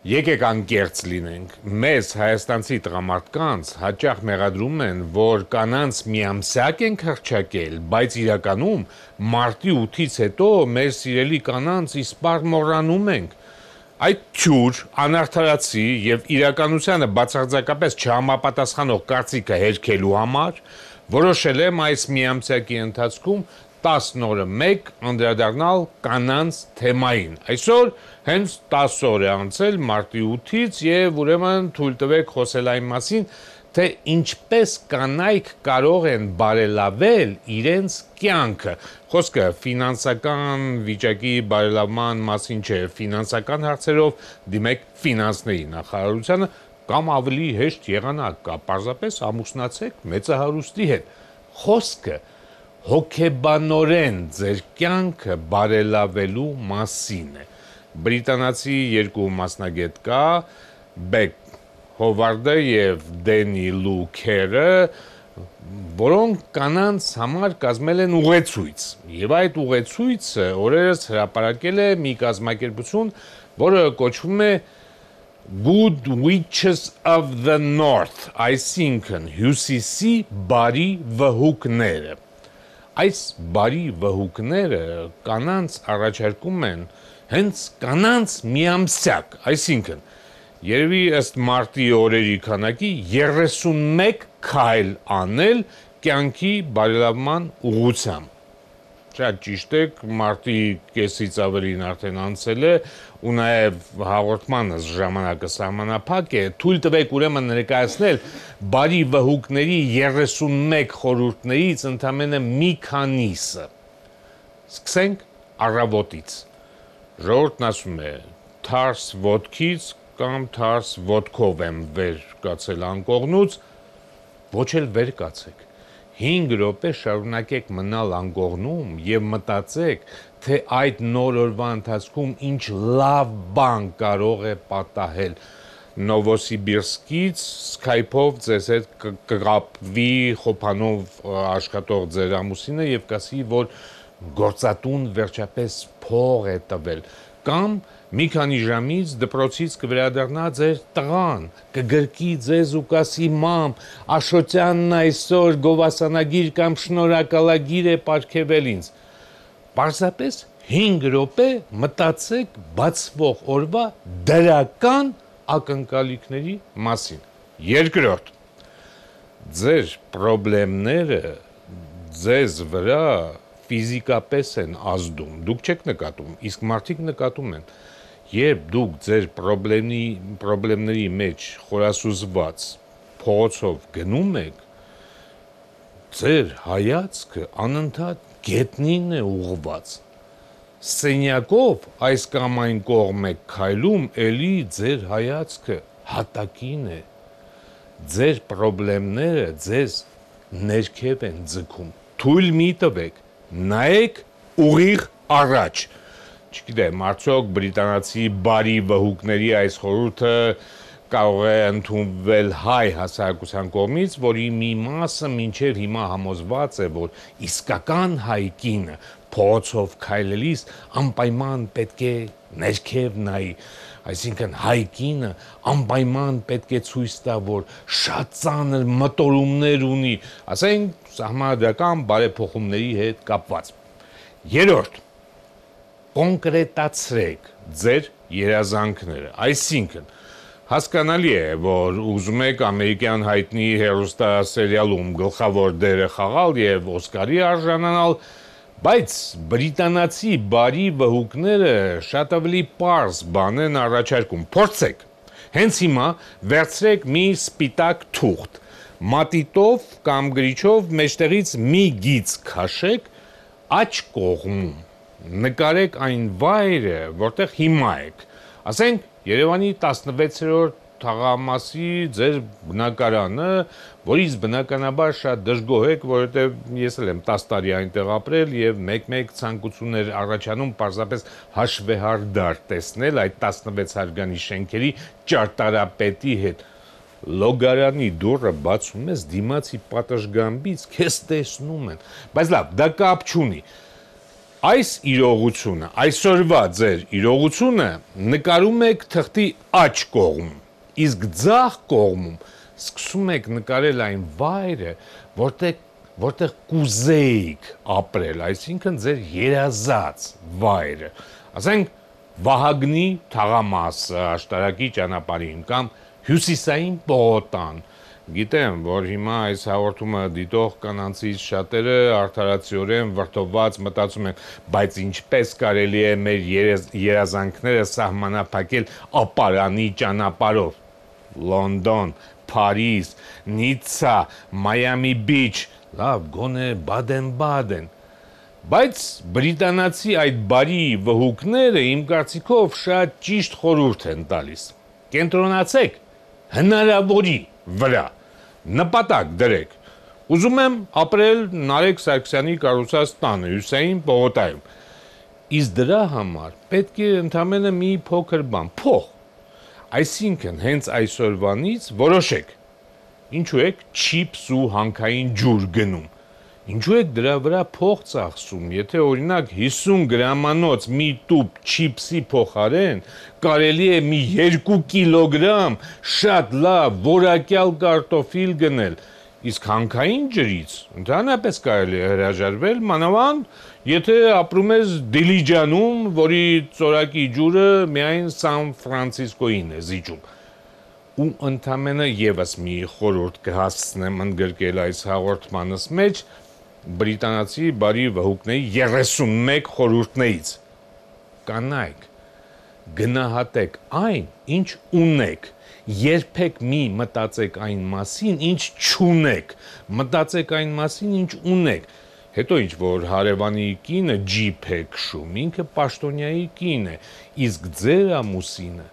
Եկեք անկեղծ լինենք, մեզ հայաստանցի տղամարդկանց հաճախ մեղադրում են, որ կանանց միամսյակ ենք հռչակել, բայց իրականում մարտի 8-ից հետո մեր սիրելի կանանց իսպառ մոռանում ենք։ Այդ թյուր, անարդարացի եւ իրականությանը բացարձակապես չհամապատասխանող կարծիքը հերքելու համար որոշել եմ այս միամսյակի ընթացքում 10 օրը մեկ անդրադառնալ կանանց թեմային։ Այսօր հենց 10 օր է անցել մարտի 8-ից եւ ուրեմն թույլ տվեք խոսել այն մասին, թե ինչպես կանայք կարող են բարելավել իրենց կյանքը։ Խոսքը ֆինանսական վիճակի բարելավման մասին չէ, ֆինանսական հարցերով դիմեք ֆինանսների նախարարությանը կամ ավելի հեշտ եղանակ կա, պարզապես ամուսնացեք մեծահարուստի հետ։ Խոսքը հոգեբանորեն ձեր կյանքը բարելավելու մասին է։ Բրիտանացի երկու մասնագետ կա, Բեք Հովարդը եւ Դենի Լու Քերը, որոնք կանանց համար կազմել են ուղեցույց։ Եվ այդ ուղեցույցը օրերս հրապարակել է մի կազմակերպություն, որը կոչվում է Good Witches of the North, այսինքն հյուսիսի բարի վհուկները։ Այս բարի վհուկները կանանց առաջարկում են հենց կանանց միամսյակ, այսինքն երևի ըստ մարտի օրերի քանակի 31 քայլ անել կյանքի բարելավման ուղղությամբ։ Շատ ճիշտ է, մարտի կեսից ավելին արդեն անցել է ու նաև հաղորդմանս ժամանակը սահմանափակ է, թույլ տվեք ուրեմն ներկայացնել բարի վհուկների 31 խորհուրդներից ընդամենը մի քանիսը։ Սկսենք առավոտից։ Ժողովուրդն ասում է, թարս ոտքից կամ թարս ոտքով եմ վեր կացել անկողնուց, ոչ էլ վեր կացեք։ 5 րոպե շարունակեք մնալ անկողնում եւ մտածեք, թե այդ նոր օրվա ընթացքում ինչ լավ բան կարող է պատահել։ Նովոսիբիրսկից Skype-ով ձեզ հետ կկապվի խոփանով աշխատող ձեր ամուսինը եւ կասի, որ գործատուն վերջապես փող է տվել, կամ մի քանի ժամից դպրոցից կվերադառնա ձեր տղան, կգրկի ձեզ ու կասի մամ, Աշոտյանն այսօր գովասանագիր կամ շնորհակալագիր է պարգևել ինձ։ Պարզապես 5 րոպե մտածեք բացվող օրվա դրական ակնկալիքների մասին։ Երկրորդ, ձեր պրոբլեմները ձեզ վրա ֆիզիկապես են ազդում, դուք չեք նկատում, իսկ մարդիկ նկատում են։ Երբ դուք ձեր պրոբլեմների մեջ խորասուզված փողոցով գնում եք, ձեր հայացքը անընդհատ գետնին է ուղղված։ Սենյակով այս կամ այն կողմ եք քայլում, էլի ձեր հայացքը հատակին է։ Ձեր պրոբլեմները ձեզ ներքև են ձգում։ Թույլ մի տվեք, նայեք ուղիղ առաջ։ Չգիտեմ, արդյոք բրիտանացի բարի վհուկների այս խորհուրդը կարող է ընդունվել հայ հասարակության կողմից, որի մի մասը մինչև հիմա համոզված է, որ իսկական հայ կինը փողոցով քայլելիս անպայման պետք է ներքև նայի, այսինքն հայ կինը անպայման պետք է ցույց տա, որ շատ ծանր մտորումներ ունի, ասենք սահմանադրական բարեփոխումների հետ կապված։ Երրորդ, կոնկրետացրեք ձեր երազանքները, այսինքն հասկանալի է, որ ուզում եք ամերիկյան հայտնի հեռուստասերիալում գլխավոր դերը խաղալ եւ Օսկարի արժանանալ, բայց բրիտանացի բարի վհուկները շատ ավելի պարզ բան են առաջարկում։ Փորձեք։ Հենց հիմա վերցրեք մի սպիտակ թուղթ, մատիտով կամ գրիչով մեջտեղից մի գիծ քաշեք աջ կողմում։ Նկարեք այն վայրը, որտեղ հիմա եք։ Ասենք Երևանի 16-րդ թաղամասի ձեր բնակարանը, որից բնականաբար շատ դժգոհ եք, որովհետև ես էլ եմ 10 տարի այնտեղ ապրել եւ մեկ-մեկ ցանկություններ առաջանում պարզապես հաշվեհարդար տեսնել այդ 16 հարգանի շենքերի ճարտարապետի հետ։ Լոգարանի դուռը բացում ես դիմացի պատշգամբից, քեզ տեսնում են։ Բայց լավ, դա կապ չունի։ այս իրողությունը, այսօրվա ձեր իրողությունը նկարում եք թղթի աջ կողմում, իսկ ձախ կողմում սկսում եք նկարել այն վայրը, որտեղ կուզեիք ապրել, այսինքն ձեր երազած վայրը, ասենք Վահագնի թաղամասը աշտարակի ճանապարհին կամ հյուսիսային պողոտան։ Գիտեմ, որ հիմա այս հաղորդումը դիտող կանանցից շատերը արդարացիորեն վրդովված մտածում են, բայց ինչպես կարելի է մեր երազանքները սահմանափակել ապարանի ճանապարհով։ Լոնդոն, Փարիզ, Նիցցա, Մայամի Բիչ, լավ, գոնե Բադեն-Բադեն։ Բայց բրիտանացի այդ բարի վհուկները իմ կարծիքով շատ ճիշտ խորհուրդ են տալիս։ Կենտրոնացեք հնարավորի վրա, նպատակ դրեք։ Ուզում եմ ապրել Նարեկ Սարգսյանի կառուցած տանը, հյուսիսային պողոտայում։ Իսկ դրա համար պետք է ընդամենը մի փոքր բան, փող։ Այսինքն հենց այսօրվանից որոշեք, ինչու եք չիփս ու հանքային ջուր գնում։ Ինչու եք դրա վրա փող ծախսում, եթե օրինակ 50 գրամանոց մի տուփ չիփսի փոխարեն կարելի է մի 2 կիլոգրամ շատ լավ որակյալ կարտոֆիլ գնել, իսկ հանքային ջրից ընդհանրապես կարելի է հրաժարվել, մանավանդ եթե ապրում ես Դիլիջանում, որի ծորակի ջուրը միայն Սան Ֆրանցիսկոյին է զիջում։ Ու ընդամենը եւս մի խորհուրդ կհասցնեմ ընդգրկել այս հաղորդմանս մեջ բրիտանացի բարի վհուկների 31 խորհուրդներից։ Կանայք, գնահատեք այն, ինչ ունեք, երբեք մի մտածեք այն մասին, ինչ չունեք, մտածեք այն մասին, ինչ ունեք, հետո ինչ որ հարևանի կինը ջիփ է քշում, ինքը պաշտոնյայի կին է, իսկ ձեր ամուսինը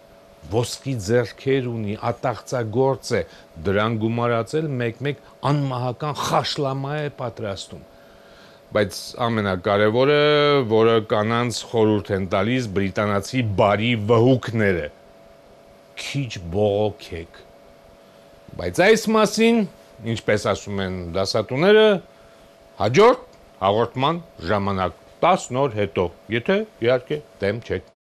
ոսկի ձեռքեր ունի, ատաղծագործ է, դրան գումարածել մեկ-մեկ անմահական խաշլամա է պատրաստում։ Բայց ամենակարևորը, որը կանանց խորհուրդ են տալիս բրիտանացի բարի վհուկները, քիչ բողոքեք։ Բայց այս մասին, ինչպես ասում են դասատուները, հաջորդ հաղորդման ժամանակ 10 օր հետո, եթե իհարկե դեմ չեք։